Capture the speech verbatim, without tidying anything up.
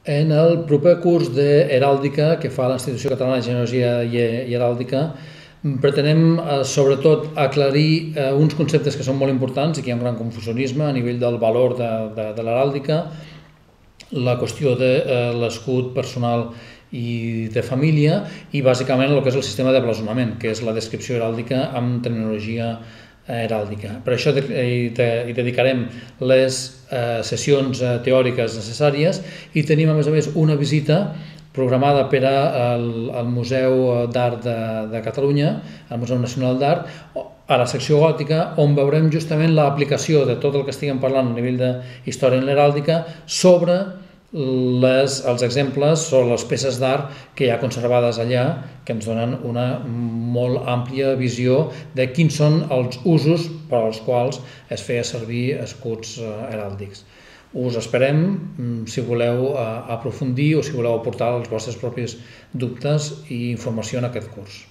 En el proper curs d'heràldica que fa l'Institució Catalana de Genealogia i Heràldica pretenem sobretot aclarir uns conceptes que són molt importants i que hi ha un gran confusionisme a nivell del valor de, de, de l'heràldica, la qüestió de l'escut personal i de família i bàsicament el que és el sistema de blasonament, que és la descripció heràldica amb terminologia heràldica. Per això hi dedicarem les sessions teòriques necessàries i tenim a més a més una visita programada per al Museu d'Art de Catalunya, al Museu Nacional d'Art, a la secció gòtica, on veurem justament l'aplicació de tot el que estiguem parlant a nivell d'història en l'heràldica sobre Les, els exemples sobre les peces d'art que hi ha conservades allà, que ens donen una molt àmplia visió de quins són els usos per als quals es feia servir escuts heràldics. Us esperem si voleu aprofundir o si voleu aportar els vostres propis dubtes i informació en aquest curs.